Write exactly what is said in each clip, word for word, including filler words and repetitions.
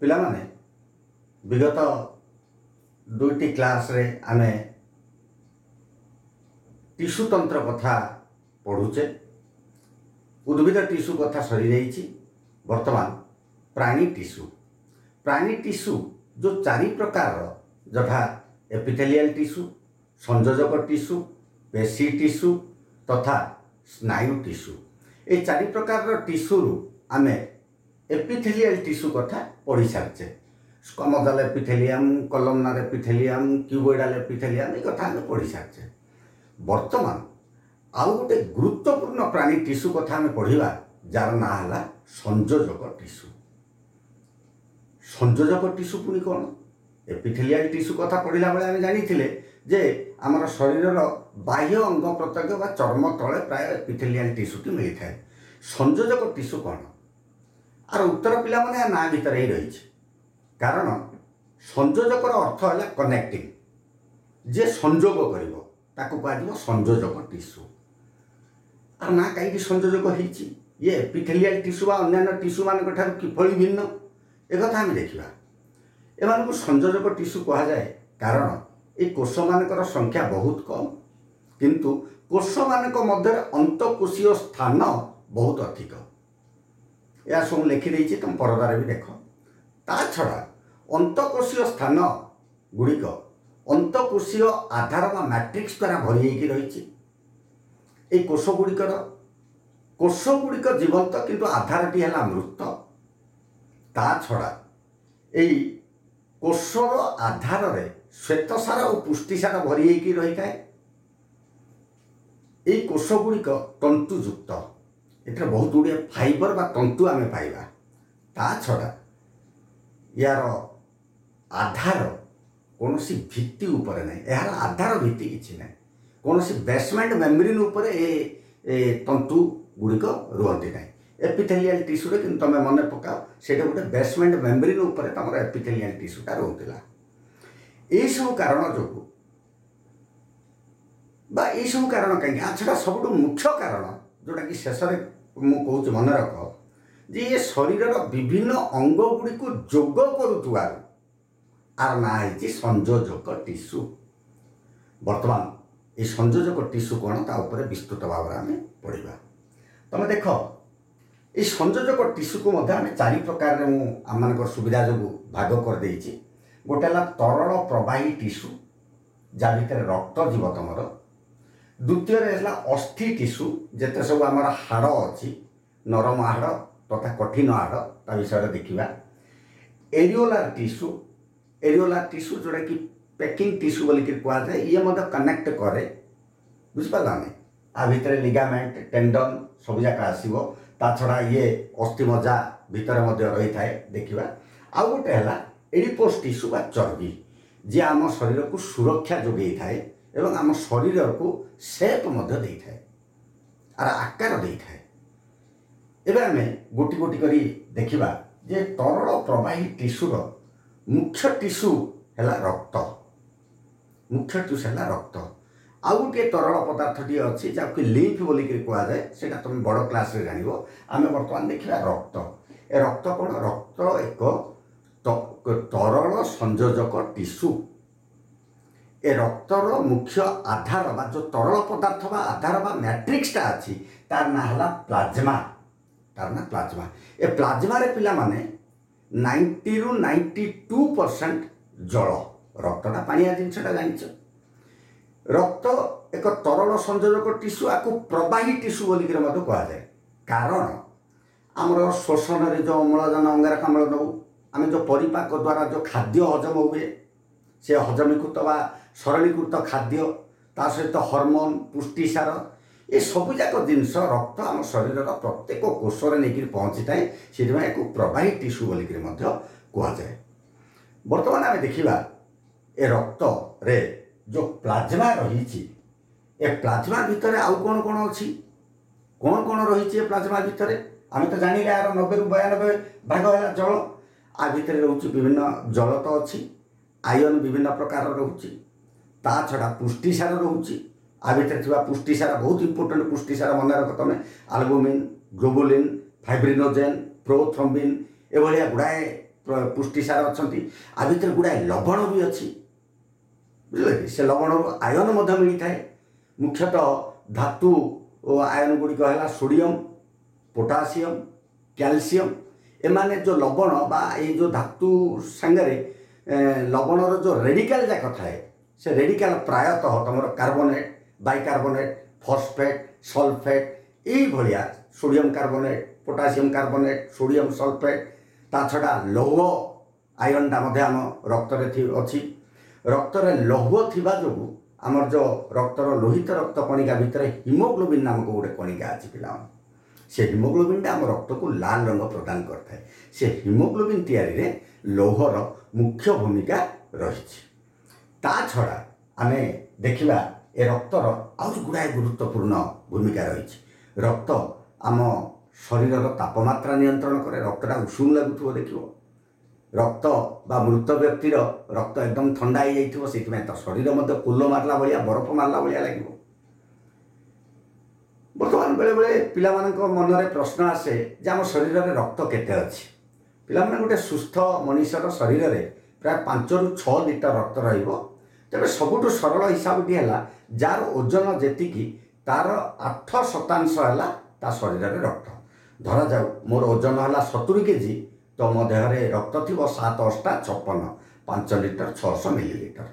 ପିଲାମାନେ ବିଗତ ଦୁଇଟି କ୍ଲାସ୍ରେ ଆମେ ଟିସୁ ତନ୍ତ୍ର କଥା ପଢ଼ୁଛେ ଉଦ୍ଭିଦ ଟିସୁ କଥା ସରିଯାଇଛି ବର୍ତ୍ତମାନ ପ୍ରାଣୀ ଟିସୁ ପ୍ରାଣୀ ଟିସୁ ଯେଉଁ ଚାରି ପ୍ରକାରର ଯଥା ଏପିଥେଲିଆଲ ଟିସୁ ସଂଯୋଜକ ଟିସୁ ପେଶୀ ଟିସୁ ତଥା ସ୍ନାୟୁ ଟିସୁ এই ଚାରି ପ୍ରକାରର ଟିସୁରୁ ଆମେ ଏପିଥେଲିଆଲ ଟିସୁ କଥା ପଢ଼ି ସାରିଛେ squamosal epithelium columnar epithelium cuboidal epithelium ଏ କଥା ଆମେ ପଢ଼ି ସାରିଛେ ବର୍ତ୍ତମାନ ଆଉ ଗୋଟେ ଗୁରୁତ୍ୱପୂର୍ଣ୍ଣ ପ୍ରାଣୀ ଟିସୁ କଥା ଆମେ ପଢ଼ିବା ଯାହାର ନାଁ ହେଲା ସଂଯୋଜକ ଟିସୁ ସଂଯୋଜକ ଟିସୁ ପୁଣି କ'ଣ ଏପିଥେଲିଆଲ ଟିସୁ କଥା ପଢ଼ିଲା ବେଳେ ଆମେ ଜାଣିଥିଲେ ଯେ ଆମର ଶରୀରର ବାହ୍ୟ ଅଙ୍ଗ ପ୍ରତ୍ୟଙ୍ଗ ବା ଚର୍ମ ତଳେ ପ୍ରାୟ ଏପିଥେଲିଆଲ ଟିସୁଟି ମିଳିଥାଏ ସଂଯୋଜକ ଟିସୁ କ'ଣ ଆର ଉତ୍ତର ପିଲାମାନେ ଆ ନାଁ ଭିତରେ ହିଁ ରହିଛି କାରଣ ସଂଯୋଜକର ଅର୍ଥ ହେଲା କନେକ୍ଟିଂ ଯିଏ ସଂଯୋଗ କରିବ ତାକୁ କୁହାଯିବ ସଂଯୋଜକ ଟିସୁ ଆର ନାଁ କାହିଁକି ସଂଯୋଜକ ହେଇଛି ଇଏ ଏପିଥେଲିଆଲ ଟିସୁ ବା ଅନ୍ୟାନ୍ୟ ଟିସୁମାନଙ୍କ ଠାରୁ କିଭଳି ଭିନ୍ନ ଏକଥା ଆମେ ଦେଖିବା ଏମାନଙ୍କୁ ସଂଯୋଜକ ଟିସୁ କୁହାଯାଏ କାରଣ ଏଇ କୋଷମାନଙ୍କର ସଂଖ୍ୟା ବହୁତ କମ୍ କିନ୍ତୁ କୋଷମାନଙ୍କ ମଧ୍ୟରେ ଅନ୍ତଃକୋଷୀୟ ସ୍ଥାନ ବହୁତ ଅଧିକ ଏହା ସବୁ ଲେଖିଦେଇଛି ତୁମ ପରଦାରେ ବି ଦେଖ ତା ଛଡ଼ା ଅନ୍ତଃକୋଷୀୟ ସ୍ଥାନ ଗୁଡ଼ିକ ଅନ୍ତଃକୋଷୀୟ ଆଧାର ବା ମ୍ୟାଟ୍ରିକ୍ସ ଦ୍ୱାରା ଭରି ହେଇକି ରହିଛି ଏଇ କୋଷ ଗୁଡ଼ିକର କୋଷ ଗୁଡ଼ିକ ଜୀବନ୍ତ କିନ୍ତୁ ଆଧାରଟି ହେଲା ମୃତ ତା ଛଡ଼ା ଏଇ କୋଷର ଆଧାରରେ ଶ୍ୱେତସାର ଓ ପୁଷ୍ଟିସାର ଭରି ହେଇକି ରହିଥାଏ ଏଇ କୋଷ ଗୁଡ଼ିକ ତନ୍ତୁଯୁକ୍ତ ଏଥିରେ ବହୁତ ଗୁଡ଼ିଏ ଫାଇବର ବା ତନ୍ତୁ ଆମେ ପାଇବା ତା ଛଡ଼ା ୟାର ଆଧାର କୌଣସି ଭିତ୍ତି ଉପରେ ନାହିଁ ଏହାର ଆଧାର ଭିତ୍ତି କିଛି ନାହିଁ କୌଣସି ବେସମେଣ୍ଟ ମେମ୍ବ୍ରେନ୍ ଉପରେ ଏ ଏ ତନ୍ତୁ ଗୁଡ଼ିକ ରୁହନ୍ତି ନାହିଁ ଏପିଥେଲିଆଲ ଟିସୁରେ କିନ୍ତୁ ତୁମେ ମନେ ପକାଅ ସେଇଟା ଗୋଟେ ବେସମେଣ୍ଟ ମେମ୍ବ୍ରେନ୍ ଉପରେ ତୁମର ଏପିଥେଲିଆଲ ଟିସୁଟା ରହୁଥିଲା ଏଇସବୁ କାରଣ ଯୋଗୁଁ ବା ଏଇସବୁ କାରଣ କାହିଁକି ଆ ଛଡ଼ା ସବୁଠୁ ମୁଖ୍ୟ କାରଣ ଯେଉଁଟାକି ଶେଷରେ ମୁଁ କହୁଛି ମନେ ରଖ ଯେ ଇଏ ଶରୀରର ବିଭିନ୍ନ ଅଙ୍ଗ ଗୁଡ଼ିକୁ ଯୋଗ କରୁଥିବାରୁ ଆର ନାଁ ହେଇଛି ସଂଯୋଜକ ଟିସୁ ବର୍ତ୍ତମାନ ଏଇ ସଂଯୋଜକ ଟିସୁ କ'ଣ ତା ଉପରେ ବିସ୍ତୃତ ଭାବରେ ଆମେ ପଢ଼ିବା ତମେ ଦେଖ ଏଇ ସଂଯୋଜକ ଟିସୁକୁ ମଧ୍ୟ ଆମେ ଚାରି ପ୍ରକାରରେ ମୁଁ ଆମମାନଙ୍କର ସୁବିଧା ଯୋଗୁଁ ଭାଗ କରିଦେଇଛି ଗୋଟେ ହେଲା ତରଳ ପ୍ରବାହୀ ଟିସୁ ଯାହା ଭିତରେ ରକ୍ତ ଯିବ ତମର ଦ୍ୱିତୀୟରେ ହେଲା ଅସ୍ଥି ଟିସୁ ଯେତେ ସବୁ ଆମର ହାଡ଼ ଅଛି ନରମ ହାଡ଼ ତଥା କଠିନ ହାଡ଼ ତା ବିଷୟରେ ଦେଖିବା ଏରିଓଲାର ଟିସୁ ଏରିଓଲାର ଟିସୁ ଯେଉଁଟାକି ପ୍ୟାକିଂ ଟିସୁ ବୋଲିକିରି କୁହାଯାଏ ଇଏ ମଧ୍ୟ କନେକ୍ଟ କରେ ବୁଝିପାରିଲାନି ଆ ଭିତରେ ଲିଗାମେଣ୍ଟ ଟେଣ୍ଡନ୍ ସବୁଯାକ ଆସିବ ତା ଛଡ଼ା ଇଏ ଅସ୍ଥିମଜ୍ଜା ଭିତରେ ମଧ୍ୟ ରହିଥାଏ ଦେଖିବା ଆଉ ଗୋଟେ ହେଲା ଏଡିପୋସ୍ ଟିସୁ ବା ଚର୍ବି ଯିଏ ଆମ ଶରୀରକୁ ସୁରକ୍ଷା ଯୋଗାଇଥାଏ ଏବଂ ଆମ ଶରୀରକୁ ସେପ୍ ମଧ୍ୟ ଦେଇଥାଏ ଆର ଆକାର ଦେଇଥାଏ ଏବେ ଆମେ ଗୋଟି ଗୋଟି କରି ଦେଖିବା ଯେ ତରଳ ପ୍ରବାହୀ ଟିସୁର ମୁଖ୍ୟ ଟିସୁ ହେଲା ରକ୍ତ ମୁଖ୍ୟ ଟିସୁ ହେଲା ରକ୍ତ ଆଉ ଗୋଟିଏ ତରଳ ପଦାର୍ଥଟିଏ ଅଛି ଯାହାକୁ ଲିମ୍ଫ ବୋଲିକିରି କୁହାଯାଏ ସେଇଟା ତୁମେ ବଡ଼ କ୍ଲାସ୍ରେ ଜାଣିବ ଆମେ ବର୍ତ୍ତମାନ ଦେଖିବା ରକ୍ତ ଏ ରକ୍ତ କ'ଣ ରକ୍ତ ଏକ ତରଳ ସଂଯୋଜକ ଟିସୁ ଏ ରକ୍ତର ମୁଖ୍ୟ ଆଧାର ବା ଯେଉଁ ତରଳ ପଦାର୍ଥ ବା ଆଧାର ବା ମ୍ୟାଟ୍ରିକ୍ସଟା ଅଛି ତାର ନାଁ ହେଲା ପ୍ଲାଜମା ତାର ନାଁ ପ୍ଲାଜମା ଏ ପ୍ଲାଜମାରେ ପିଲାମାନେ ନାଇଣ୍ଟିରୁ ନାଇଣ୍ଟି ଟୁ ପରସେଣ୍ଟ ଜଳ ରକ୍ତଟା ପାଣିଆ ଜିନିଷଟା ଜାଣିଛ ରକ୍ତ ଏକ ତରଳ ସଂଯୋଜକ ଟିସୁ ଆକୁ ପ୍ରବାହୀ ଟିସୁ ବୋଲିକିରି ମଧ୍ୟ କୁହାଯାଏ କାରଣ ଆମର ଶ୍ଵସନରେ ଯେଉଁ ଅମ୍ଳଜାନ ଅଙ୍ଗାରକାମ୍ଳ ନେଉ ଆମେ ଯେଉଁ ପରିପାକ ଦ୍ୱାରା ଯେଉଁ ଖାଦ୍ୟ ହଜମ ହୁଏ ସେ ହଜମୀକୃତ ବା ସରଳୀକୃତ ଖାଦ୍ୟ ତା ସହିତ ହରମୋନ୍ ପୁଷ୍ଟିସାର ଏ ସବୁଯାକ ଜିନିଷ ରକ୍ତ ଆମ ଶରୀରର ପ୍ରତ୍ୟେକ କୋଷରେ ନେଇକରି ପହଞ୍ଚିଥାଏ ସେଥିପାଇଁ ଏହାକୁ ପ୍ରବାହୀ ଟିସୁ ବୋଲିକିରି ମଧ୍ୟ କୁହାଯାଏ ବର୍ତ୍ତମାନ ଆମେ ଦେଖିବା ଏ ରକ୍ତରେ ଯେଉଁ ପ୍ଲାଜମା ରହିଛି ଏ ପ୍ଲାଜମା ଭିତରେ ଆଉ କ'ଣ କ'ଣ ଅଛି କ'ଣ କ'ଣ ରହିଛି ଏ ପ୍ଲାଜମା ଭିତରେ ଆମେ ତ ଜାଣିଲେ ଆର ନବେରୁ ବୟାନବେ ଭାଗ ହେଲା ଜଳ ଆ ଭିତରେ ରହୁଛି ବିଭିନ୍ନ ଜଳ ତ ଅଛି ଆୟନ ବିଭିନ୍ନ ପ୍ରକାରର ରହୁଛି ତା ଛଡ଼ା ପୁଷ୍ଟିସାର ରହୁଛି ଆ ଭିତରେ ଥିବା ପୁଷ୍ଟିସାର ବହୁତ ଇମ୍ପୋର୍ଟାଣ୍ଟ ପୁଷ୍ଟିସାର ମନେ ରଖ ତମେ ଆଲବୁମିନ୍ ଗ୍ଲୋବୁଲିନ୍ ଫାଇବ୍ରିନୋଜେନ୍ ପ୍ରୋଥ୍ରମ୍ବିନ୍ ଏଭଳିଆ ଗୁଡ଼ାଏ ପୁଷ୍ଟିସାର ଅଛନ୍ତି। ଆ ଭିତରେ ଗୁଡ଼ାଏ ଲବଣ ବି ଅଛି, ବୁଝିଲେ କି? ସେ ଲବଣରୁ ଆୟନ ମଧ୍ୟ ମିଳିଥାଏ। ମୁଖ୍ୟତଃ ଧାତୁ ଓ ଆୟନ ଗୁଡ଼ିକ ହେଲା ସୋଡ଼ିୟମ୍, ପୋଟାସିୟମ୍, କ୍ୟାଲସିୟମ୍। ଏମାନେ ଯେଉଁ ଲବଣ ବା ଏଇ ଯେଉଁ ଧାତୁ ସାଙ୍ଗରେ ଲବଣର ଯେଉଁ ରେଡ଼ିକାଲ ଯାକ ଥାଏ, ସେ ରେଡ଼ିକାଲ ପ୍ରାୟତଃ ତୁମର କାର୍ବୋନେଟ୍, ବାଇକାର୍ବୋନେଟ୍, ଫସ୍ଫେଟ୍, ସଲଫେଟ୍, ଏଇଭଳିଆ sodium carbonate, potassium carbonate, sodium sulphate. ତା ଛଡ଼ା ଲୌହ ଆୟନଟା ମଧ୍ୟ ଆମ ରକ୍ତରେ ଅଛି। ରକ୍ତରେ ଲୌହ ଥିବା ଯୋଗୁଁ ଆମର ଯେଉଁ ରକ୍ତର ଲୋହିତ ରକ୍ତ କଣିକା ଭିତରେ ହିମୋଗ୍ଲୋବିନ୍ ନାମକ ଗୋଟେ କଣିକା ଅଛି ପିଲାମାନେ, ସେ ହିମୋଗ୍ଲୋବିନ୍ଟା ଆମ ରକ୍ତକୁ ଲାଲ ରଙ୍ଗ ପ୍ରଦାନ କରିଥାଏ। ସେ ହିମୋଗ୍ଲୋବିନ୍ ତିଆରିରେ ଲୌହର ମୁଖ୍ୟ ଭୂମିକା ରହିଛି। ତା ଛଡ଼ା ଆମେ ଦେଖିବା ଏ ରକ୍ତର ଆହୁରି ଗୁଡ଼ାଏ ଗୁରୁତ୍ୱପୂର୍ଣ୍ଣ ଭୂମିକା ରହିଛି। ରକ୍ତ ଆମ ଶରୀରର ତାପମାତ୍ରା ନିୟନ୍ତ୍ରଣ କରେ। ରକ୍ତଟା ଉଷୁମ ଲାଗୁଥିବ ଦେଖିବ, ରକ୍ତ ବା ମୃତ ବ୍ୟକ୍ତିର ରକ୍ତ ଏକଦମ ଥଣ୍ଡା ହେଇଯାଇଥିବ, ସେଇଥିପାଇଁ ତା ଶରୀର ମଧ୍ୟ କୁଲ ମାରିଲା ଭଳିଆ, ବରଫ ମାରିଲା ଭଳିଆ ଲାଗିବ। ବର୍ତ୍ତମାନ ବେଳେବେଳେ ପିଲାମାନଙ୍କ ମନରେ ପ୍ରଶ୍ନ ଆସେ ଯେ ଆମ ଶରୀରରେ ରକ୍ତ କେତେ ଅଛି। ପିଲାମାନେ, ଗୋଟେ ସୁସ୍ଥ ମଣିଷର ଶରୀରରେ ପ୍ରାୟ ପାଞ୍ଚରୁ ଛଅ ଲିଟର ରକ୍ତ ରହିବ। ତେବେ ସବୁଠୁ ସରଳ ହିସାବଟି ହେଲା, ଯାହାର ଓଜନ ଯେତିକି ତାର ଆଠ ଶତାଂଶ ହେଲା ତା ଶରୀରରେ ରକ୍ତ। ଧରାଯାଉ ମୋର ଓଜନ ହେଲା ସତୁରି କେଜି, ତ ମୋ ଦେହରେ ରକ୍ତ ଥିବ ସାତ ଅଷ୍ଟା ଛପନ, ପାଞ୍ଚ ଲିଟର ଛଅଶହ ମିଲିଲିଟର।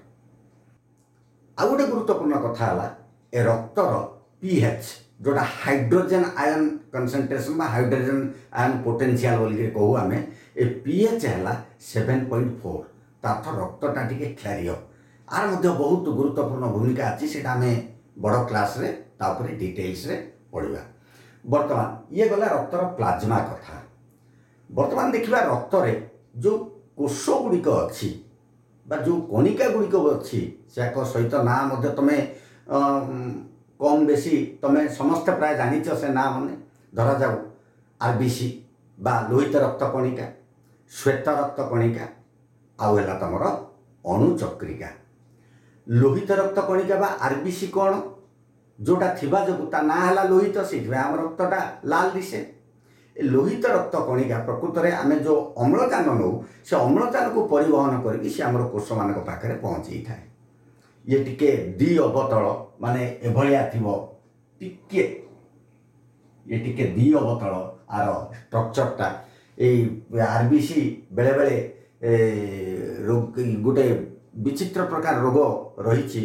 ଆଉ ଗୋଟେ ଗୁରୁତ୍ୱପୂର୍ଣ୍ଣ କଥା ହେଲା ଏ ରକ୍ତର ପି ଏଚ୍, ଯେଉଁଟା ହାଇଡ୍ରୋଜେନ୍ ଆୟନ୍ କନସେନ୍ଟ୍ରେସନ୍ ବା ହାଇଡ୍ରୋଜେନ୍ ଆୟନ୍ ପୋଟେନ୍ସିଆଲ୍ ବୋଲିକିରି କହୁ ଆମେ, ଏ ପି ଏଚ୍ ହେଲା ସେଭେନ୍ ପଏଣ୍ଟ ଫୋର୍। ତା ଅର୍ଥ ରକ୍ତଟା ଟିକେ କ୍ଷାରୀୟ। ଆର ମଧ୍ୟ ବହୁତ ଗୁରୁତ୍ୱପୂର୍ଣ୍ଣ ଭୂମିକା ଅଛି, ସେଇଟା ଆମେ ବଡ଼ କ୍ଲାସ୍ରେ ତା ଉପରେ ଡିଟେଲ୍ସରେ ପଢ଼ିବା। ବର୍ତ୍ତମାନ ଇଏ ଗଲା ରକ୍ତର ପ୍ଲାଜମା କଥା। ବର୍ତ୍ତମାନ ଦେଖିବା ରକ୍ତରେ ଯେଉଁ କୋଷ ଗୁଡ଼ିକ ଅଛି ବା ଯେଉଁ କଣିକା ଗୁଡ଼ିକ ଅଛି, ସେୟାକ ସହିତ ନାଁ ମଧ୍ୟ ତୁମେ କମ୍ ବେଶୀ ତୁମେ ସମସ୍ତେ ପ୍ରାୟ ଜାଣିଛ ସେ ନାଁ ମାନେ। ଧରାଯାଉ ଆର୍ ବି ସି ବା ଲୋହିତ ରକ୍ତ କଣିକା, ଶ୍ୱେତ ରକ୍ତ କଣିକା, ଆଉ ହେଲା ତୁମର ଅଣୁଚକ୍ରିକା। ଲୋହିତ ରକ୍ତ କଣିକା ବା ଆର୍ ବି ସି କ'ଣ? ଯେଉଁଟା ଥିବା ଯୋଗୁଁ ତା ନାଁ ହେଲା ଲୋହିତ, ସେଇଥିପାଇଁ ଆମ ରକ୍ତଟା ଲାଲ ଦିଶେ। ଏ ଲୋହିତ ରକ୍ତ କଣିକା ପ୍ରକୃତରେ ଆମେ ଯେଉଁ ଅମ୍ଳଜାନ ନେଉ, ସେ ଅମ୍ଳଜାନକୁ ପରିବହନ କରିକି ସେ ଆମର କୋଷମାନଙ୍କ ପାଖରେ ପହଞ୍ଚେଇଥାଏ। ଇଏ ଟିକେ ଦି ଅବତଳ, ମାନେ ଏଭଳିଆ ଥିବ ଟିକେ, ଇଏ ଟିକେ ଦି ଅବତଳ ଆର ଷ୍ଟ୍ରକ୍ଚରଟା। ଏଇ ଆର୍ ବି ସି ବେଳେବେଳେ ରୋଗ, ଗୋଟେ ବିଚିତ୍ର ପ୍ରକାର ରୋଗ ରହିଛି,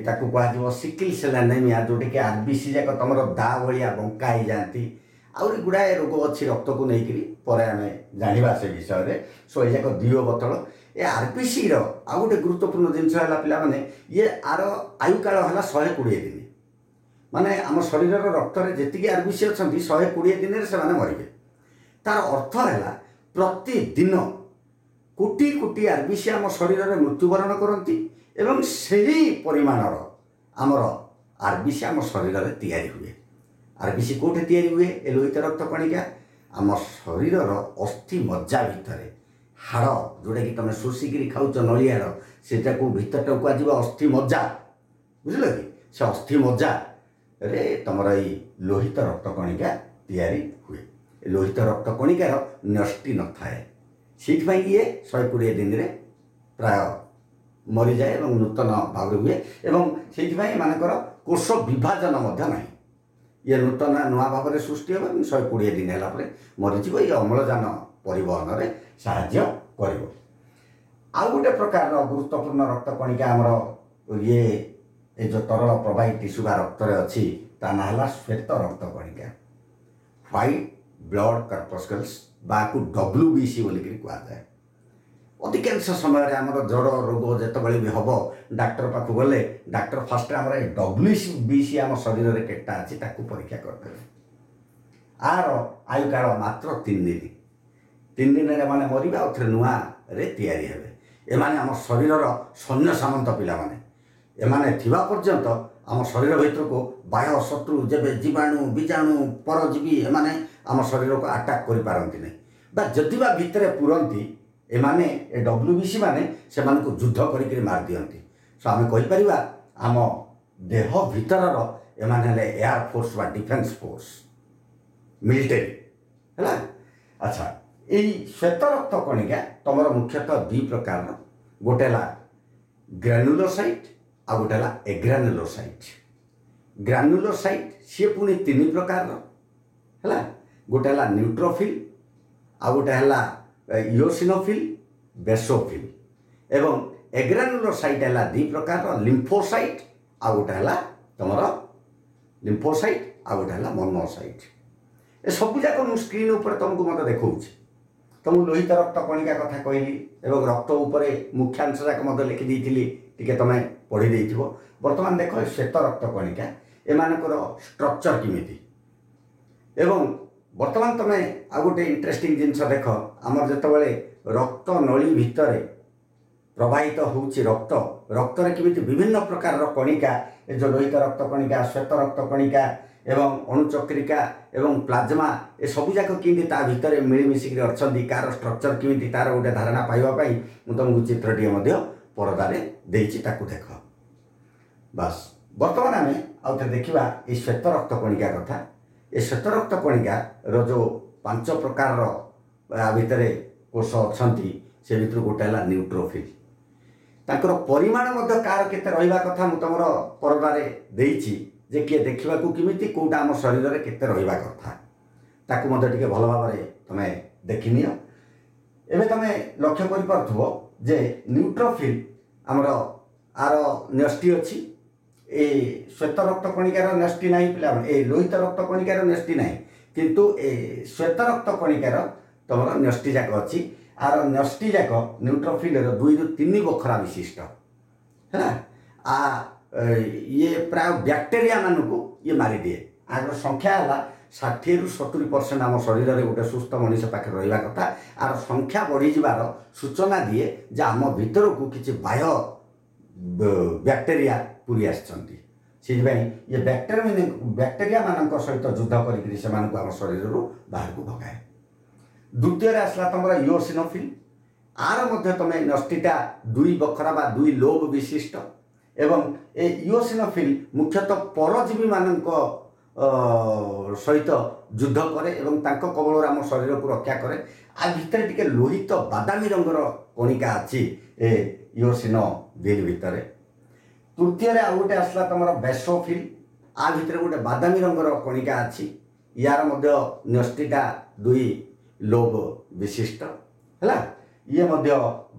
ତାକୁ କୁହାଯିବ ସିକିଲ୍ ସେଲ୍ ଆନେମିଆ, ଯେଉଁଟାକି ଆର୍ ବି ସି ଯାକ ତୁମର ଦା ଭଳିଆ ବଙ୍କା ହେଇଯାଆନ୍ତି। ଆହୁରି ଗୁଡ଼ାଏ ରୋଗ ଅଛି ରକ୍ତକୁ ନେଇକରି, ପରେ ଆମେ ଜାଣିବା ସେ ବିଷୟରେ। ସୋ ଏ ଯାକ ଦ୍ୱି ଅବତଳ। ଏ ଆର୍ ପି ସିର ଆଉ ଗୋଟେ ଗୁରୁତ୍ୱପୂର୍ଣ୍ଣ ଜିନିଷ ହେଲା ପିଲାମାନେ, ଇଏ ଆର ଆୟୁକାଳ ହେଲା ଶହେ କୋଡ଼ିଏ ଦିନ। ମାନେ ଆମ ଶରୀରର ରକ୍ତରେ ଯେତିକି ଆର୍ ବି ସି ଅଛନ୍ତି, ଶହେ କୋଡ଼ିଏ ଦିନରେ ସେମାନେ ମରିବେ। ତାର ଅର୍ଥ ହେଲା ପ୍ରତିଦିନ କୋଟି କୋଟି ଆର୍ ବି ସି ଆମ ଶରୀରରେ ମୃତ୍ୟୁବରଣ କରନ୍ତି ଏବଂ ସେହି ପରିମାଣର ଆମର ଆର୍ ବି ସି ଆମ ଶରୀରରେ ତିଆରି ହୁଏ। ଆର୍ ବି ସି କେଉଁଠି ତିଆରି ହୁଏ? ଏ ଲୋହିତ ରକ୍ତ କଣିକା ଆମ ଶରୀରର ଅସ୍ଥି ମଜ୍ଜା ଭିତରେ, ହାଡ଼ ଯେଉଁଟାକି ତୁମେ ଶୋଷିକିରି ଖାଉଛ ନଳିଆ ହାଡ଼, ସେଟାକୁ ଭିତରଟାକୁ କୁହାଯିବ ଅସ୍ଥି ମଜ୍ଜା, ବୁଝିଲ କି? ସେ ଅସ୍ଥି ମଜ୍ଜାରେ ତୁମର ଏଇ ଲୋହିତ ରକ୍ତ କଣିକା ତିଆରି ହୁଏ। ଏ ଲୋହିତ ରକ୍ତ କଣିକାର ନ୍ୟଷ୍ଟି ନଥାଏ, ସେଇଥିପାଇଁ ଇଏ ଶହେ କୋଡ଼ିଏ ଦିନରେ ପ୍ରାୟ ମରିଯାଏ ଏବଂ ନୂତନ ଭାବରେ ହୁଏ, ଏବଂ ସେଇଥିପାଇଁ ଏମାନଙ୍କର କୋଷ ବିଭାଜନ ମଧ୍ୟ ନାହିଁ। ଇଏ ନୂତନ ନୂଆ ଭାବରେ ସୃଷ୍ଟି ହେବ ଏବଂ ଶହେ କୋଡ଼ିଏ ଦିନ ହେଲା ପରେ ମରିଯିବ। ଇଏ ଅମ୍ଳଜାନ ପରିବହନରେ ସାହାଯ୍ୟ କରିବ। ଆଉ ଗୋଟେ ପ୍ରକାରର ଗୁରୁତ୍ୱପୂର୍ଣ୍ଣ ରକ୍ତ କଣିକା ଆମର ଇଏ ଏ ଯେଉଁ ତରଳ ପ୍ରବାହୀ ଟିସୁ ବା ରକ୍ତରେ ଅଛି, ତା ନାଁ ହେଲା ଶ୍ୱେତ ରକ୍ତ କଣିକା, ହ୍ୱାଇଟ୍ ବ୍ଲଡ଼ କର୍ପସ୍କଲ୍ସ ବା ଆକୁ ଡବ୍ଲ୍ୟୁ ବି ସି ବୋଲିକିରି କୁହାଯାଏ। ଅଧିକାଂଶ ସମୟରେ ଆମର ଜ୍ୱର ରୋଗ ଯେତେବେଳେ ବି ହେବ, ଡାକ୍ତର ପାଖକୁ ଗଲେ ଡାକ୍ତର ଫାଷ୍ଟରେ ଆମର ଏ ଡବ୍ଲ୍ୟୁ ବି ସି ଆମ ଶରୀରରେ କେତେଟା ଅଛି ତାକୁ ପରୀକ୍ଷା କରିଦେବେ। ଆର ଆୟୁକାଳ ମାତ୍ର ତିନି ଦିନ। ତିନି ଦିନରେ ଏମାନେ ମରିବେ, ଆଉ ଥରେ ନୂଆରେ ତିଆରି ହେବେ। ଏମାନେ ଆମ ଶରୀରର ସୈନ୍ୟ ସାମନ୍ତ ପିଲାମାନେ। ଏମାନେ ଥିବା ପର୍ଯ୍ୟନ୍ତ ଆମ ଶରୀର ଭିତରକୁ ବାହ୍ୟ ଶତ୍ରୁ ଯେବେ ଜୀବାଣୁ, ବୀଜାଣୁ, ପରଜୀବୀ ଏମାନେ ଆମ ଶରୀରକୁ ଆଟାକ୍ କରିପାରନ୍ତି ନାହିଁ, ବା ଯଦି ବା ଭିତରେ ପୁରନ୍ତି, ଏମାନେ ଏ ଡବ୍ଲ୍ୟୁ ବି ସି ମାନେ ସେମାନଙ୍କୁ ଯୁଦ୍ଧ କରିକିରି ମାରିଦିଅନ୍ତି। ସୋ ଆମେ କହିପାରିବା ଆମ ଦେହ ଭିତରର ଏମାନେ ହେଲେ ଏୟାର ଫୋର୍ସ ବା ଡିଫେନ୍ସ ଫୋର୍ସ, ମିଲିଟାରୀ ହେଲା। ଆଚ୍ଛା, ଏଇ ଶ୍ୱେତ ରକ୍ତ କଣିକା ତୁମର ମୁଖ୍ୟତଃ ଦୁଇ ପ୍ରକାରର, ଗୋଟେ ହେଲା ଗ୍ରାନୁଲୋସାଇଟ୍ ଆଉ ଗୋଟେ ହେଲା ଏଗ୍ରାନୁଲୋସାଇଟ୍। ଗ୍ରାନୁଲୋସାଇଟ୍ ସିଏ ପୁଣି ତିନି ପ୍ରକାରର ହେଲା, ଗୋଟେ ହେଲା ନ୍ୟୁଟ୍ରୋଫିଲ୍, ଆଉ ଗୋଟେ ହେଲା ଇଓସିନୋଫିଲ୍, ବେସୋଫିଲ୍। ଏବଂ ଏଗ୍ରାନୁଲୋସାଇଟ୍ ହେଲା ଦୁଇ ପ୍ରକାରର, ଲିମ୍ଫୋସାଇଟ୍ ଆଉ ଗୋଟେ ହେଲା ତୁମର ଲିମ୍ଫୋସାଇଟ୍ ଆଉ ଗୋଟେ ହେଲା ମନୋସାଇଟ୍। ଏ ସବୁ ଯାକ ମୁଁ ସ୍କ୍ରିନ୍ ଉପରେ ତୁମକୁ ମୋତେ ଦେଖାଉଛି। ତୁମକୁ ଲୋହିତ ରକ୍ତ କଣିକା କଥା କହିଲି ଏବଂ ରକ୍ତ ଉପରେ ମୁଖ୍ୟାଂଶ ଯାକ ମଧ୍ୟ ଲେଖିଦେଇଥିଲି, ଟିକେ ତୁମେ ପଢ଼ି ଦେଇଥିବ। ବର୍ତ୍ତମାନ ଦେଖ ଏ ଶ୍ୱେତ ରକ୍ତ କଣିକା ଏମାନଙ୍କର ଷ୍ଟ୍ରକ୍ଚର କେମିତି। ଏବଂ ବର୍ତ୍ତମାନ ତୁମେ ଆଉ ଗୋଟେ ଇଣ୍ଟରେଷ୍ଟିଂ ଜିନିଷ ଦେଖ, ଆମର ଯେତେବେଳେ ରକ୍ତ ନଳୀ ଭିତରେ ପ୍ରବାହିତ ହେଉଛି ରକ୍ତ, ରକ୍ତରେ କେମିତି ବିଭିନ୍ନ ପ୍ରକାରର କଣିକା, ଏ ଯେଉଁ ଲୋହିତ ରକ୍ତ କଣିକା, ଶ୍ୱେତ ରକ୍ତ କଣିକା ଏବଂ ଅଣୁଚକ୍ରିକା ଏବଂ ପ୍ଲାଜମା, ଏ ସବୁ ଯାକ କେମିତି ତା ଭିତରେ ମିଳିମିଶିକିରି ଅଛନ୍ତି, କାହାର ଷ୍ଟ୍ରକ୍ଚର କେମିତି, ତାର ଗୋଟେ ଧାରଣା ପାଇବା ପାଇଁ ମୁଁ ତୁମକୁ ଚିତ୍ରଟିଏ ମଧ୍ୟ ପରଦାରେ ଦେଇଛି, ତାକୁ ଦେଖ। ବାସ୍, ବର୍ତ୍ତମାନ ଆମେ ଆଉ ଥରେ ଦେଖିବା ଏଇ ଶ୍ୱେତ ରକ୍ତ କଣିକା କଥା। ଏ ଶ୍ୱେତ ରକ୍ତ କଣିକାର ଯେଉଁ ପାଞ୍ଚ ପ୍ରକାରର ଆ ଭିତରେ କୋଷ ଅଛନ୍ତି, ସେ ଭିତରୁ ଗୋଟେ ହେଲା ନ୍ୟୁଟ୍ରୋଫିଲ୍। ତାଙ୍କର ପରିମାଣ ମଧ୍ୟ କାହାର କେତେ ରହିବା କଥା ମୁଁ ତୁମର ପରଦାରେ ଦେଇଛି, ଯେ କିଏ ଦେଖିବାକୁ କେମିତି, କେଉଁଟା ଆମ ଶରୀରରେ କେତେ ରହିବା କଥା, ତାକୁ ମଧ୍ୟ ଟିକେ ଭଲ ଭାବରେ ତୁମେ ଦେଖିନିଅ। ଏବେ ତୁମେ ଲକ୍ଷ୍ୟ କରିପାରୁଥିବ ଯେ ନ୍ୟୁଟ୍ରୋଫିଲ୍ ଆମର ଆର ନ୍ୟଷ୍ଟି ଅଛି, ଏ ଶ୍ୱେତ ରକ୍ତ କଣିକାର ନ୍ୟଷ୍ଟି ନାହିଁ ପିଲାମାନେ, ଏ ଲୋହିତ ରକ୍ତ କଣିକାର ନ୍ୟଷ୍ଟି ନାହିଁ, କିନ୍ତୁ ଏ ଶ୍ୱେତ ରକ୍ତ କଣିକାର ତୁମର ନ୍ୟଷ୍ଟି ଯାକ ଅଛି। ଆର ନ୍ୟଷ୍ଟି ଯାକ ନ୍ୟୁଟ୍ରୋଫିଲ୍ର ଦୁଇରୁ ତିନି ବଖରା ବିଶିଷ୍ଟ ହେଲା। ଆ ଇଏ ପ୍ରାୟ ବ୍ୟାକ୍ଟେରିଆ ମାନଙ୍କୁ ଇଏ ମାରିଦିଏ। ଆର ସଂଖ୍ୟା ହେଲା ଷାଠିଏରୁ ସତୁରି ପରସେଣ୍ଟ ଆମ ଶରୀରରେ ଗୋଟେ ସୁସ୍ଥ ମଣିଷ ପାଖରେ ରହିବା କଥା। ଆର ସଂଖ୍ୟା ବଢ଼ିଯିବାର ସୂଚନା ଦିଏ ଯେ ଆମ ଭିତରକୁ କିଛି ବାହ୍ୟ ବ୍ୟାକ୍ଟେରିଆ ପୁରୀ ଆସିଛନ୍ତି। ସେଥିପାଇଁ ଇଏ ବ୍ୟାକ୍ଟେରିଆ ବ୍ୟାକ୍ଟେରିଆ ମାନଙ୍କ ସହିତ ଯୁଦ୍ଧ କରିକିରି ସେମାନଙ୍କୁ ଆମ ଶରୀରରୁ ବାହାରକୁ ଭଗାଏ। ଦ୍ୱିତୀୟରେ ଆସିଲା ତୁମର ଇଓସିନୋଫିଲ୍। ଆର ମଧ୍ୟ ତୁମେ ନ୍ୟଷ୍ଟିଟା ଦୁଇ ବଖରା ବା ଦୁଇ ଲୋବ ବିଶିଷ୍ଟ, ଏବଂ ଏ ଇଓସିନୋଫିଲ୍ ମୁଖ୍ୟତଃ ପରଜୀବୀମାନଙ୍କ ସହିତ ଯୁଦ୍ଧ କରେ ଏବଂ ତାଙ୍କ କବଳରୁ ଆମ ଶରୀରକୁ ରକ୍ଷା କରେ। ଆ ଭିତରେ ଟିକେ ଲୋହିତ ବାଦାମୀ ରଙ୍ଗର କଣିକା ଅଛି ଏ ଇଓସିନୋଫିଲ୍ ଭିତରେ। ତୃତୀୟରେ ଆଉ ଗୋଟେ ଆସିଲା ତୁମର ବେସୋଫିଲ୍। ଆ ଭିତରେ ଗୋଟେ ବାଦାମୀ ରଙ୍ଗର କଣିକା ଅଛି, ୟାର ମଧ୍ୟ ନ୍ୟଷ୍ଟିଟା ଦୁଇ ଲୋବ ବିଶିଷ୍ଟ ହେଲା। ଇଏ ମଧ୍ୟ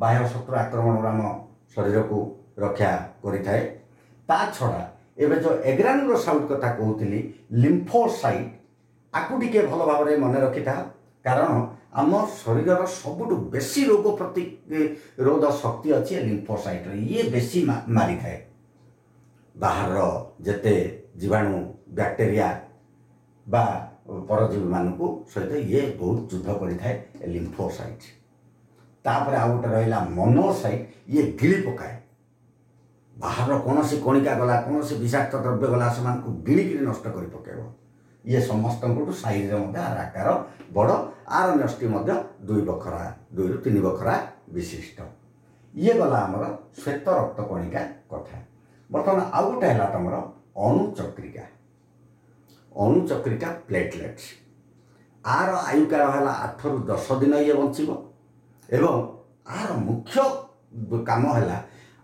ବାହ୍ୟ ଶତ୍ରୁ ଆକ୍ରମଣରୁ ଆମ ଶରୀରକୁ ରକ୍ଷା କରିଥାଏ। ତା ଛଡ଼ା ଏବେ ଯେଉଁ ଏଗ୍ରାନୁଲୋସାଇଟ୍ କଥା କହୁଥିଲି, ଲିମ୍ଫୋସାଇଟ୍, ଆକୁ ଟିକେ ଭଲ ଭାବରେ ମନେ ରଖିଥା, କାରଣ ଆମ ଶରୀରର ସବୁଠୁ ବେଶୀ ରୋଗ ପ୍ରତିରୋଧ ଶକ୍ତି ଅଛି ଏ ଲିମ୍ଫୋସାଇଟ୍ର। ଇଏ ବେଶୀ ମାରିଥାଏ ବାହାରର ଯେତେ ଜୀବାଣୁ, ବ୍ୟାକ୍ଟେରିଆ ବା ପରଜୀବୀମାନଙ୍କୁ ସହିତ ଇଏ ବହୁତ ଯୁଦ୍ଧ କରିଥାଏ ଏ ଲିମ୍ଫୋସାଇଟ୍। ତାପରେ ଆଉ ଗୋଟେ ରହିଲା ମନୋସାଇଟ୍, ଇଏ ଗିଳି ପକାଏ। ବାହାରର କୌଣସି କଣିକା ଗଲା, କୌଣସି ବିଷାକ୍ତ ଦ୍ରବ୍ୟ ଗଲା, ସେମାନଙ୍କୁ ଗିଳିକିରି ନଷ୍ଟ କରି ପକାଇବ। ଇଏ ସମସ୍ତଙ୍କଠୁ ସାଇଜରେ ମଧ୍ୟ ଆର ଆକାର ବଡ଼, ଆର ନ୍ୟଷ୍ଟି ମଧ୍ୟ ଦୁଇ ବଖରା, ଦୁଇରୁ ତିନି ବଖରା ବିଶିଷ୍ଟ। ଇଏ ଗଲା ଆମର ଶ୍ୱେତ ରକ୍ତ କଣିକା କଥା। ବର୍ତ୍ତମାନ ଆଉ ଗୋଟେ ହେଲା ତୁମର ଅଣୁଚକ୍ରିକା, ଅଣୁଚକ୍ରିକା ପ୍ଲେଟଲେଟ୍ସ। ଆର ଆୟୁକାଳ ହେଲା ଆଠରୁ ଦଶ ଦିନ ଇଏ ବଞ୍ଚିବ। ଏବଂ ଆର ମୁଖ୍ୟ କାମ ହେଲା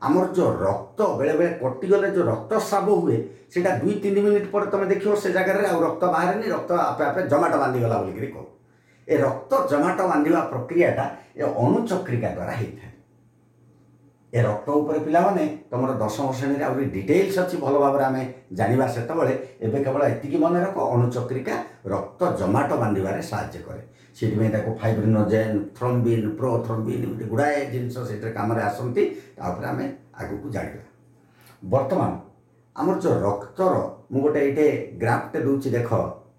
ଆମର ଯେଉଁ ରକ୍ତ ବେଳେବେଳେ କଟିଗଲେ ଯେଉଁ ରକ୍ତସ୍ରାବ ହୁଏ, ସେଇଟା ଦୁଇ ତିନି ମିନିଟ୍ ପରେ ତୁମେ ଦେଖିବ ସେ ଜାଗାରେ ଆଉ ରକ୍ତ ବାହାରେନି, ରକ୍ତ ଆପେ ଆପେ ଜମାଟ ବାନ୍ଧିଗଲା ବୋଲିକିରି କହୁ। ଏ ରକ୍ତ ଜମାଟ ବାନ୍ଧିବା ପ୍ରକ୍ରିୟାଟା ଏ ଅଣୁଚକ୍ରିକା ଦ୍ୱାରା ହେଇଥାଏ। ଏ ରକ୍ତ ଉପରେ ପିଲାମାନେ ତୁମର ଦଶମ ଶ୍ରେଣୀରେ ଆହୁରି ଡିଟେଲ୍ସ ଅଛି, ଭଲ ଭାବରେ ଆମେ ଜାଣିବା ସେତେବେଳେ। ଏବେ କେବଳ ଏତିକି ମନେ ରଖ, ଅଣୁଚକ୍ରିକା ରକ୍ତ ଜମାଟ ବାନ୍ଧିବାରେ ସାହାଯ୍ୟ କରେ। ସେଥିପାଇଁ ତାକୁ ଫାଇବ୍ରିନୋଜେନ୍, ଥ୍ରମ୍ବିନ୍, ପ୍ରୋଥ୍ରମ୍ବିନ୍ ଏମିତି ଗୁଡ଼ାଏ ଜିନିଷ ସେଥିରେ କାମରେ ଆସନ୍ତି। ତାପରେ ଆମେ ଆଗକୁ ଜାଣିବା। ବର୍ତ୍ତମାନ ଆମର ଯେଉଁ ରକ୍ତର ମୁଁ ଗୋଟେ ଏଇଠି ଗ୍ରାଫଟେ ଦେଉଛି ଦେଖ,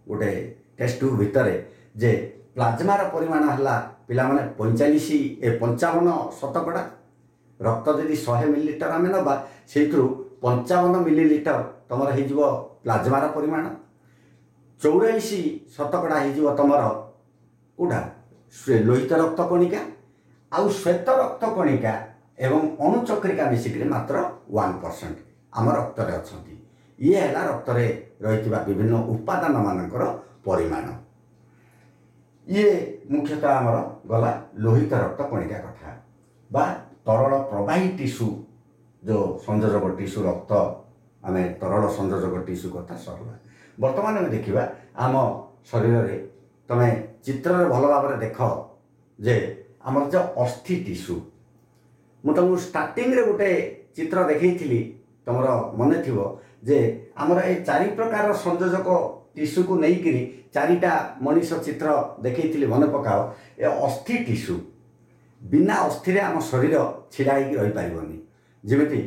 ଗୋଟେ ଟେଷ୍ଟ ଟ୍ୟୁବ୍ ଭିତରେ, ଯେ ପ୍ଲାଜମାର ପରିମାଣ ହେଲା ପିଲାମାନେ ପଇଁଚାଳିଶ ଏ ପଞ୍ଚାବନ ଶତକଡ଼ା। ରକ୍ତ ଯଦି ଶହେ ମିଲିଲିଟର ଆମେ ନେବା, ସେଇଥିରୁ ପଞ୍ଚାବନ ମିଲିଲିଟର ତୁମର ହେଇଯିବ ପ୍ଲାଜମାର ପରିମାଣ, ଚଉରାଳିଶ ଶତକଡ଼ା ହେଇଯିବ ତୁମର କେଉଁଟା ଲୋହିତ ରକ୍ତ କଣିକା, ଆଉ ଶ୍ୱେତ ରକ୍ତ କଣିକା ଏବଂ ଅଣୁଚକ୍ରିକା ମିଶିକିରି ମାତ୍ର ୱାନ୍ ପରସେଣ୍ଟ ଆମ ରକ୍ତରେ ଅଛନ୍ତି। ଇଏ ହେଲା ରକ୍ତରେ ରହିଥିବା ବିଭିନ୍ନ ଉପାଦାନମାନଙ୍କର ପରିମାଣ। ଇଏ ମୁଖ୍ୟତଃ ଆମର ଗଲା ଲୋହିତ ରକ୍ତ କଣିକା କଥା ବା ତରଳ ପ୍ରବାହୀ ଟିସୁ, ଯେଉଁ ସଂଯୋଜକ ଟିସୁ ରକ୍ତ, ଆମେ ତରଳ ସଂଯୋଜକ ଟିସୁ କଥା ସରିଲା। ବର୍ତ୍ତମାନ ଆମେ ଦେଖିବା ଆମ ଶରୀରରେ, ତମେ ଚିତ୍ରରେ ଭଲ ଭାବରେ ଦେଖ ଯେ ଆମର ଯେଉଁ ଅସ୍ଥି ଟିସୁ, ମୁଁ ତୁମକୁ ଷ୍ଟାର୍ଟିଂରେ ଗୋଟେ ଚିତ୍ର ଦେଖେଇଥିଲି, ତୁମର ମନେ ଥିବ ଯେ ଆମର ଏ ଚାରି ପ୍ରକାରର ସଂଯୋଜକ ଟିସୁକୁ ନେଇକିରି ଚାରିଟା ମଣିଷ ଚିତ୍ର ଦେଖେଇଥିଲି, ମନେ ପକାଅ। ଏ ଅସ୍ଥି ଟିସୁ ବିନା ଅସ୍ଥିରେ ଆମ ଶରୀର ଛିଡ଼ା ହେଇକି ରହିପାରିବନି। ଯେମିତି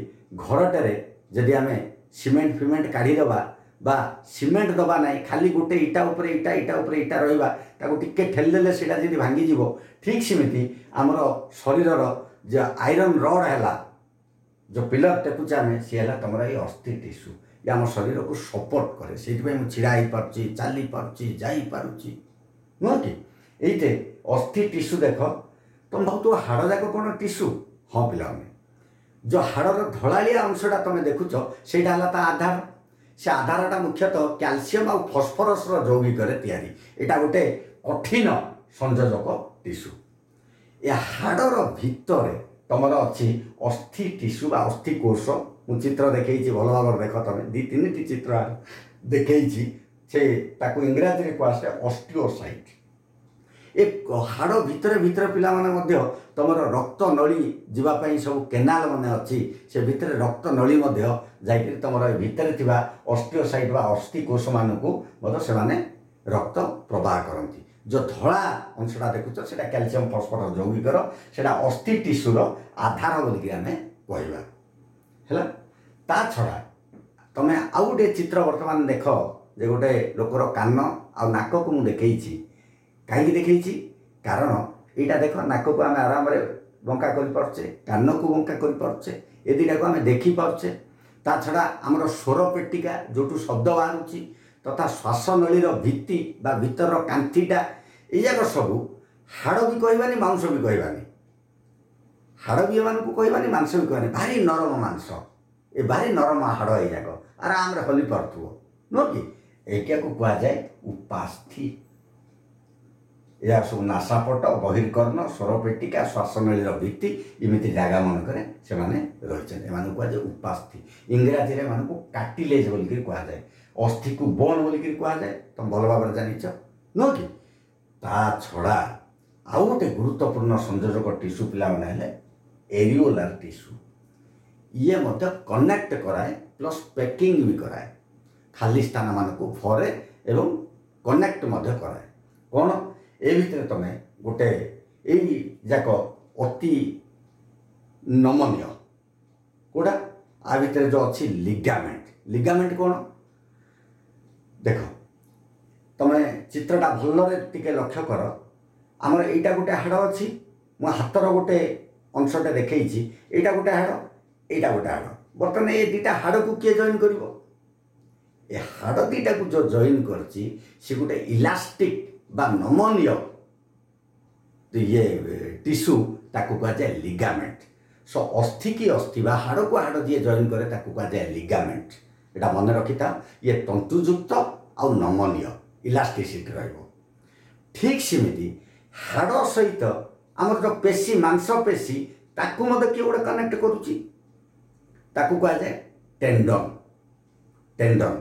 ଘରଟାରେ ଯଦି ଆମେ ସିମେଣ୍ଟ ଫିମେଣ୍ଟ କାଢ଼ିଦେବା ବା ସିମେଣ୍ଟ ଦେବା ନାହିଁ, ଖାଲି ଗୋଟେ ଇଟା ଉପରେ ଇଟା, ଇଟା ଉପରେ ଇଟା ରହିବା, ତାକୁ ଟିକେ ଠେଲିଦେଲେ ସେଇଟା ଯଦି ଭାଙ୍ଗିଯିବ, ଠିକ୍ ସେମିତି ଆମର ଶରୀରର ଯେ ଆଇରନ୍ ରଡ଼୍ ହେଲା, ଯେଉଁ ପିଲର ଟେକୁଛେ ଆମେ, ସିଏ ହେଲା ତୁମର ଏଇ ଅସ୍ଥି ଟିସୁ। ଇଏ ଆମ ଶରୀରକୁ ସପୋର୍ଟ କରେ, ସେଇଥିପାଇଁ ମୁଁ ଛିଡ଼ା ହେଇପାରୁଛି, ଚାଲିପାରୁଛି, ଯାଇପାରୁଛି, ନୁହଁ କି? ଏଇତେ ଅସ୍ଥି ଟିସୁ ଦେଖ। ତୁମେ ଭାବୁଥିବ ହାଡ଼ ଯାକ କ'ଣ ଟିସୁ? ହଁ ପିଲାମାନେ, ଯେଉଁ ହାଡ଼ର ଧଳାଳିଆ ଅଂଶଟା ତୁମେ ଦେଖୁଛ, ସେଇଟା ହେଲା ତା ଆଧାର। ସେ ଆଧାରଟା ମୁଖ୍ୟତଃ କ୍ୟାଲସିୟମ୍ ଆଉ ଫସ୍ଫରସର ଯୌଗିକରେ ତିଆରି। ଏଇଟା ଗୋଟେ କଠିନ ସଂଯୋଜକ ଟିସୁ। ଏ ହାଡ଼ର ଭିତରେ ତୁମର ଅଛି ଅସ୍ଥି ଟିସୁ ବା ଅସ୍ଥି କୋଷ। ମୁଁ ଚିତ୍ର ଦେଖେଇଛି, ଭଲ ଭାବରେ ଦେଖ ତମେ, ଦୁଇ ତିନିଟି ଚିତ୍ର ଦେଖେଇଛି। ସେ ତାକୁ ଇଂରାଜୀରେ କୁହାଯାଏ ଅଷ୍ଟିଓସାଇଟ୍। ଏ ହାଡ଼ ଭିତରେ ଭିତରେ ପିଲାମାନେ ମଧ୍ୟ ତୁମର ରକ୍ତ ନଳୀ ଯିବା ପାଇଁ ସବୁ କେନାଲ ମାନେ ଅଛି। ସେ ଭିତରେ ରକ୍ତ ନଳୀ ମଧ୍ୟ ଯାଇକରି ତୁମର ଏ ଭିତରେ ଥିବା ଅଷ୍ଟିଓସାଇଟ୍ ବା ଅସ୍ଥି କୋଷମାନଙ୍କୁ ମଧ୍ୟ ସେମାନେ ରକ୍ତ ପ୍ରବାହ କରନ୍ତି। ଯେଉଁ ଧଳା ଅଂଶଟା ଦେଖୁଛ, ସେଇଟା କ୍ୟାଲସିୟମ୍ ଫସ୍ଫରସ୍ ଯୌଗିକର, ସେଇଟା ଅସ୍ଥି ଟିସୁର ଆଧାର ବୋଲିକି ଆମେ କହିବା। ହେଲା? ତା ଛଡ଼ା ତମେ ଆଉ ଗୋଟେ ଚିତ୍ର ବର୍ତ୍ତମାନ ଦେଖ ଯେ ଗୋଟେ ଲୋକର କାନ ଆଉ ନାକକୁ ମୁଁ ଦେଖେଇଛି। କାହିଁକି ଦେଖେଇଛି? କାରଣ ଏଇଟା ଦେଖ, ନାକକୁ ଆମେ ଆରାମରେ ବଙ୍କା କରିପାରୁଛେ, କାନକୁ ବଙ୍କା କରିପାରୁଛେ, ଏ ଦୁଇଟାକୁ ଆମେ ଦେଖିପାରୁଛେ। ତା ଛଡ଼ା ଆମର ସ୍ୱର ପେଟିକା ଯେଉଁଠୁ ଶବ୍ଦ ବାହାରୁଛି ତଥା ଶ୍ୱାସନଳୀର ଭିତ୍ତି ବା ଭିତରର କାନ୍ଥିଟା, ଏଇଯାକ ସବୁ ହାଡ଼ ବି କହିବାନି, ମାଂସ ବି କହିବାନି। ହାଡ଼ ବି ଏମାନଙ୍କୁ କହିବାନି, ମାଂସ ବି କହିବାନି। ଭାରି ନରମ ମାଂସ ଏ, ଭାରି ନରମ ହାଡ଼, ଏଇଯାକ ଆରାମରେ ହଲି ପାରୁଥିବ, ନୁହଁ କି? ଏଇଟାକୁ କୁହାଯାଏ ଉପାସ୍ଥି। ଏହା ସବୁ ନାସାପଟ, ବହିର୍କର୍ଣ୍ଣ, ସ୍ୱରପେଟିକା, ଶ୍ୱାସନଳୀର ଭିତ୍ତି, ଏମିତି ଜାଗା ମାନଙ୍କରେ ସେମାନେ ରହିଛନ୍ତି। ଏମାନଙ୍କୁ କୁହାଯାଏ ଉପାସ୍ଥି। ଇଂରାଜୀରେ ଏମାନଙ୍କୁ କାଟିଲେଜ୍ ବୋଲିକିରି କୁହାଯାଏ। ଅସ୍ଥିକୁ ବୋନ୍ ବୋଲିକିରି କୁହାଯାଏ, ତମେ ଭଲ ଭାବରେ ଜାଣିଛ, ନୁହଁ କି? ତା ଛଡ଼ା ଆଉ ଗୋଟେ ଗୁରୁତ୍ୱପୂର୍ଣ୍ଣ ସଂଯୋଜକ ଟିସୁ ପିଲାମାନେ ହେଲେ ଏରିଓଲାର ଟିସୁ। ଇଏ ମଧ୍ୟ କନେକ୍ଟ କରାଏ, ପ୍ଲସ୍ ପ୍ୟାକିଂ ବି କରାଏ, ଖାଲି ସ୍ଥାନମାନଙ୍କୁ ଭରେ ଏବଂ କନେକ୍ଟ ମଧ୍ୟ କରାଏ। କ'ଣ ଏ ଭିତରେ ତୁମେ ଗୋଟେ ଏଇ ଯାକ ଅତି ନମନୀୟ କେଉଁଟା? ଆ ଭିତରେ ଯେଉଁ ଅଛି ଲିଗାମେଣ୍ଟ। ଲିଗାମେଣ୍ଟ କ'ଣ? ଦେଖ, ତମେ ଚିତ୍ରଟା ଭଲରେ ଟିକେ ଲକ୍ଷ୍ୟ କର। ଆମର ଏଇଟା ଗୋଟେ ହାଡ଼ ଅଛି, ମୁଁ ହାତର ଗୋଟେ ଅଂଶଟା ଦେଖେଇଛି। ଏଇଟା ଗୋଟେ ହାଡ଼, ଏଇଟା ଗୋଟେ ହାଡ଼। ବର୍ତ୍ତମାନ ଏ ଦୁଇଟା ହାଡ଼କୁ କିଏ ଜଏନ୍ କରିବ? ଏ ହାଡ଼ ଦୁଇଟାକୁ ଯେଉଁ ଜଏନ୍ କରିଛି, ସେ ଗୋଟେ ଇଲାଷ୍ଟିକ୍ ବା ନମନୀୟ ଇଏ ଟିସୁ, ତାକୁ କୁହାଯାଏ ଲିଗାମେଣ୍ଟ। ସୋ ଅସ୍ଥି କି ଅସ୍ଥି ବା ହାଡ଼କୁ ହାଡ଼ ଯିଏ ଜଏନ୍ କରେ, ତାକୁ କୁହାଯାଏ ଲିଗାମେଣ୍ଟ। ଏଇଟା ମନେ ରଖିଥାଅ। ଇଏ ତନ୍ତୁଯୁକ୍ତ ଆଉ ନମନୀୟ, ଇଲାଷ୍ଟିସିଟି ରହିବ। ଠିକ୍ ସେମିତି ହାଡ଼ ସହିତ ଆମର ଯେଉଁ ପେଶୀ, ମାଂସପେଶୀ, ତାକୁ ମଧ୍ୟ କିଏ ଗୋଟେ କନେକ୍ଟ କରୁଛି, ତାକୁ କୁହାଯାଏ ଟେଣ୍ଡନ୍। ଟେଣ୍ଡନ୍।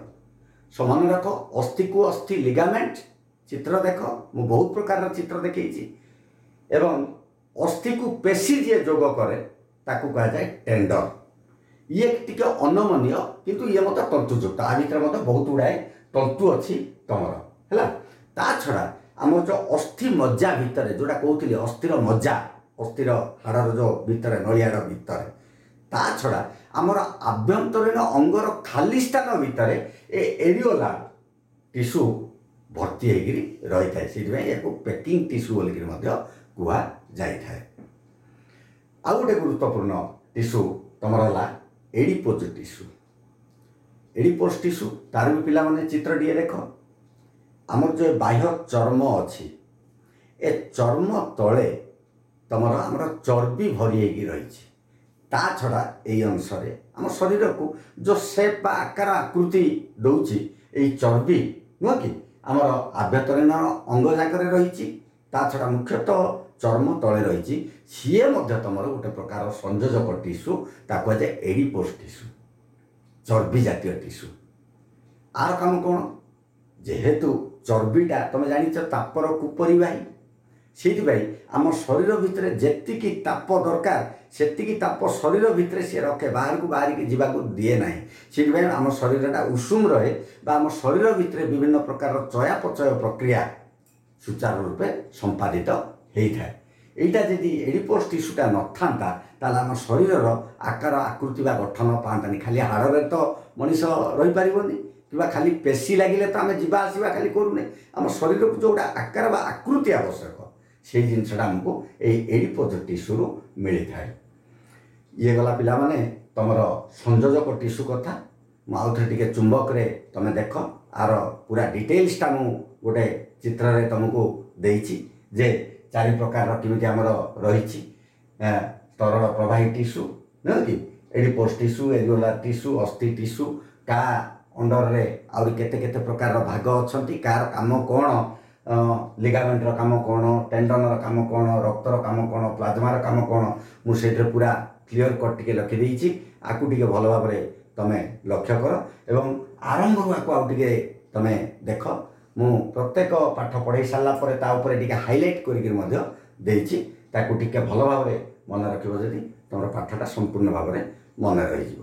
ସୋ ମନେ ରଖ, ଅସ୍ଥିକୁ ଅସ୍ଥି ଲିଗାମେଣ୍ଟ। ଚିତ୍ର ଦେଖ, ମୁଁ ବହୁତ ପ୍ରକାରର ଚିତ୍ର ଦେଖେଇଛି। ଏବଂ ଅସ୍ଥିକୁ ପେଶୀ ଯିଏ ଯୋଗ କରେ, ତାକୁ କୁହାଯାଏ ଟେଣ୍ଡନ୍। ଇଏ ଟିକେ ଅନମନୀୟ, କିନ୍ତୁ ଇଏ ମଧ୍ୟ ତନ୍ତୁଯୁକ୍ତ। ଆ ଭିତରେ ମଧ୍ୟ ବହୁତ ଗୁଡ଼ାଏ ତନ୍ତୁ ଅଛି ତମର। ହେଲା? ତା ଛଡ଼ା ଆମର ଯେଉଁ ଅସ୍ଥି ମଜ୍ଜା ଭିତରେ ଯେଉଁଟା କହୁଥିଲି, ଅସ୍ଥିର ମଜ୍ଜା, ଅସ୍ଥିର ହାଡ଼ର ଯେଉଁ ଭିତରେ, ନଳିହାଡ଼ ଭିତରେ, ତା ଛଡ଼ା ଆମର ଆଭ୍ୟନ୍ତରୀଣ ଅଙ୍ଗର ଖାଲି ସ୍ଥାନ ଭିତରେ ଏ ଏରିଓଲା ଟିସୁ ଭର୍ତ୍ତି ହେଇକିରି ରହିଥାଏ। ସେଇଥିପାଇଁ ଏହାକୁ ପ୍ୟାକିଂ ଟିସୁ ବୋଲିକିରି ମଧ୍ୟ କୁହାଯାଇଥାଏ। ଆଉ ଗୋଟେ ଗୁରୁତ୍ୱପୂର୍ଣ୍ଣ ଟିସୁ ତୁମର ହେଲା ଏଡ଼ିପୋଜ ଟିସୁ। ଏଡ଼ିପୋଜ ଟିସୁ, ତାର ବି ପିଲାମାନେ ଚିତ୍ରଟିଏ ଦେଖ। ଆମର ଯେଉଁ ବାହ୍ୟ ଚର୍ମ ଅଛି, ଏ ଚର୍ମ ତଳେ ତୁମର ଆମର ଚର୍ବି ଭରି ହେଇକି ରହିଛି। ତା ଛଡ଼ା ଏଇ ଅଂଶରେ ଆମ ଶରୀରକୁ ଯେଉଁ ସେପ୍ ବା ଆକାର ଆକୃତି ଦେଉଛି ଏଇ ଚର୍ବି, ନୁହଁ କି? ଆମର ଆଭ୍ୟନ୍ତରୀଣ ଅଙ୍ଗ ଯାକରେ ରହିଛି। ତା ଛଡ଼ା ମୁଖ୍ୟତଃ ଚର୍ମ ତଳେ ରହିଛି, ସିଏ ମଧ୍ୟ ତୁମର ଗୋଟେ ପ୍ରକାର ସଂଯୋଜକ ଟିସ୍ୟୁ, ତାକୁ କୁହାଯାଏ ଏଡିପୋସ୍ ଟିସ୍ୟୁ, ଚର୍ବି ଜାତୀୟ ଟିସ୍ୟୁ। ଆର କାମ କ'ଣ? ଯେହେତୁ ଚର୍ବିଟା ତୁମେ ଜାଣିଛ ତାପର କୁପରିବାହୀ, ସେଇଥିପାଇଁ ଆମ ଶରୀର ଭିତରେ ଯେତିକି ତାପ ଦରକାର ସେତିକି ତାପ ଶରୀର ଭିତରେ ସିଏ ରଖେ, ବାହାରକୁ ବାହାରିକି ଯିବାକୁ ଦିଏ ନାହିଁ। ସେଇଥିପାଇଁ ଆମ ଶରୀରଟା ଉଷୁମ ରହେ ବା ଆମ ଶରୀର ଭିତରେ ବିଭିନ୍ନ ପ୍ରକାରର ଚୟାପଚୟ ପ୍ରକ୍ରିୟା ସୁଚାରୁ ରୂପେ ସମ୍ପାଦିତ ହେଇଥାଏ। ଏଇଟା ଯଦି ଏଡିପୋସ୍ ଟିସ୍ୟୁଟା ନଥାନ୍ତା, ତାହେଲେ ଆମ ଶରୀରର ଆକାର ଆକୃତି ବା ଗଠନ ପାଆନ୍ତାନି। ଖାଲି ହାଡ଼ରେ ତ ମଣିଷ ରହିପାରିବନି, କିମ୍ବା ଖାଲି ପେଶୀ ଲାଗିଲେ ତ ଆମେ ଯିବା ଆସିବା ଖାଲି କରୁନେ। ଆମ ଶରୀରକୁ ଯେଉଁଟା ଆକାର ବା ଆକୃତି ଆବଶ୍ୟକ, ସେଇ ଜିନିଷଟା ଆମକୁ ଏଇ ଏଡିପୋଜ ଟିସ୍ୟୁରୁ ମିଳିଥାଏ। ଇଏ ଗଲା ପିଲାମାନେ ତୁମର ସଂଯୋଜକ ଟିସ୍ୟୁ କଥା। ମୁଁ ଆଉ ଥରେ ଟିକେ ଚୁମ୍ବକରେ ତୁମେ ଦେଖ, ଆର ପୁରା ଡିଟେଲ୍ସଟା ମୁଁ ଗୋଟେ ଚିତ୍ରରେ ତୁମକୁ ଦେଇଛି ଯେ ଚାରି ପ୍ରକାରର କେମିତି ଆମର ରହିଛି, ତରଳ ପ୍ରବାହୀ ଟିସ୍ୟୁ ନୁହେଁ କି, ଏଡିପୋସ୍ ଟିସ୍ୟୁ, ଏରିଓଲାର ଟିସ୍ୟୁ, ଅସ୍ଥି ଟିସ୍ୟୁ, କା ଅଣ୍ଡରରେ ଆହୁରି କେତେ କେତେ ପ୍ରକାରର ଭାଗ ଅଛନ୍ତି, କାହାର କାମ କ'ଣ, ଲିଗାମେଣ୍ଟର କାମ କ'ଣ, ଟେଣ୍ଡନର କାମ କ'ଣ, ରକ୍ତର କାମ କ'ଣ, ପ୍ଲାଜମାର କାମ କ'ଣ, ମୁଁ ସେଇଥିରେ ପୁରା କ୍ଲିଅର କଟ୍ ଟିକେ ଲେଖିଦେଇଛି। ଆକୁ ଟିକେ ଭଲ ଭାବରେ ତୁମେ ଲକ୍ଷ୍ୟ କର ଏବଂ ଆରମ୍ଭରୁ ଆକୁ ଆଉ ଟିକେ ତୁମେ ଦେଖ। ମୁଁ ପ୍ରତ୍ୟେକ ପାଠ ପଢ଼େଇ ସାରିଲା ପରେ ତା ଉପରେ ଟିକେ ହାଇଲାଇଟ୍ କରିକିରି ମଧ୍ୟ ଦେଇଛି। ତାକୁ ଟିକେ ଭଲ ଭାବରେ ମନେ ରଖିବ ଯଦି, ତୁମର ପାଠଟା ସମ୍ପୂର୍ଣ୍ଣ ଭାବରେ ମନେ ରହିଯିବ।